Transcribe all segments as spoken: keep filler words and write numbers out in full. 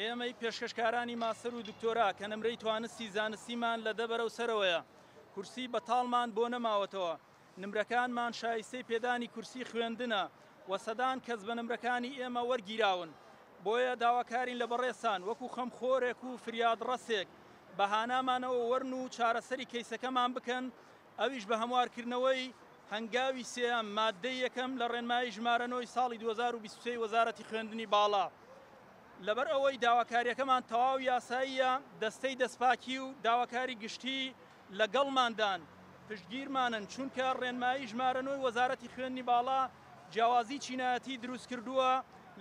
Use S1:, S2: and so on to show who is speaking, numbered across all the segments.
S1: ئێمەی پێشکەشکارانی ماستەر و دکتۆرا کە نمرەی توانستی زانستیمان لە دە بەرەو سەرەوەیە، کورسی بەتاڵمان بۆ نەماوەتەوە، نمرەکانمان شایستەی پێدانی کورسی خوێندنە و سەدان کەس بە نمرەکانی ئێمە وەرگیراون. بۆیە داواکارین لە بەڕێزتان وەکو خەمخۆرێک و فریادڕەسێک بە هانامانەوە وەرن و چارەسەری کەیسەکەمان بکەن، ئەویش بە هەموارکردنەوەی هەنگاوی سێیەم ماددەی یەکەم لە ڕێنمایی ژمارە نۆی ساڵی دوو هەزار و بیست و سێ وەزارەتی خوێندنی باڵا. لەبەر ئەوەی داواکاریەکەمان تەواو یاساییە، دەستەی دەستپاکی و داواکاری گشتی لەگەڵماندان، پشتگیرمانن، چونکە ڕێنمایی ژمارە نۆی وەزارەتی خوێندنی باڵا جیاوازی چینایەتی دروستکردووە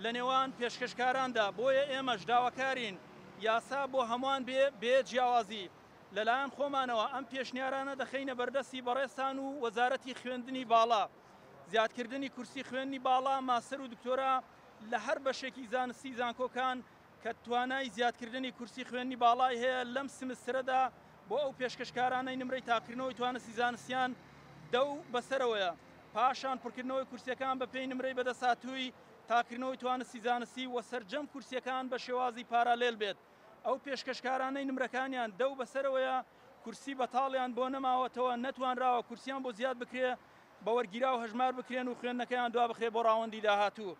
S1: لە نێوان پێشکەشکاراندا، بۆیە ئێمەش داواکارین یاسا بۆ هەمووان بێ بێ جیاوازی. لەلایەن خۆمانەوە ئەم پێشنیارانە دەخەینە بەردەستی بەڕێزتان و وەزارەتی خوێندنی باڵا. زیادکردنی کورسی خوێندنی باڵا، ماستەر و دکتۆرا لە هەر بەشێکی زانستی زانکۆکان کە توانای زیادکردنی کورسی خوێندنی باڵای هەیە لەم سمسترەدا بۆ ئەو پێشکەشکارانەی نمرەی تاقیکردنەوەی توانستی زانستیان دە و بەسەرەوەیە، پاشان پڕکردنەوەی کورسیەکان بە پێی نمرەی بەدەستهاتووی تاقیکردنەوەی توانستی زانستی و سەرجەم کورسیەکان بە شێوازی پارالێل بێت. ئەو پێشکەشکارانەی نمرەکانیان دە و بەسەرەوەیە کورسی بەتاڵیان بۆ نەماوەتەوە، نەتوانراوە کورسیان بۆ زیاد بکرێ، بە وەرگیراو هەژمار بکرێن و خوێندنەکەیان دوا بخرێ بۆ ڕاوەندی داهاتوو.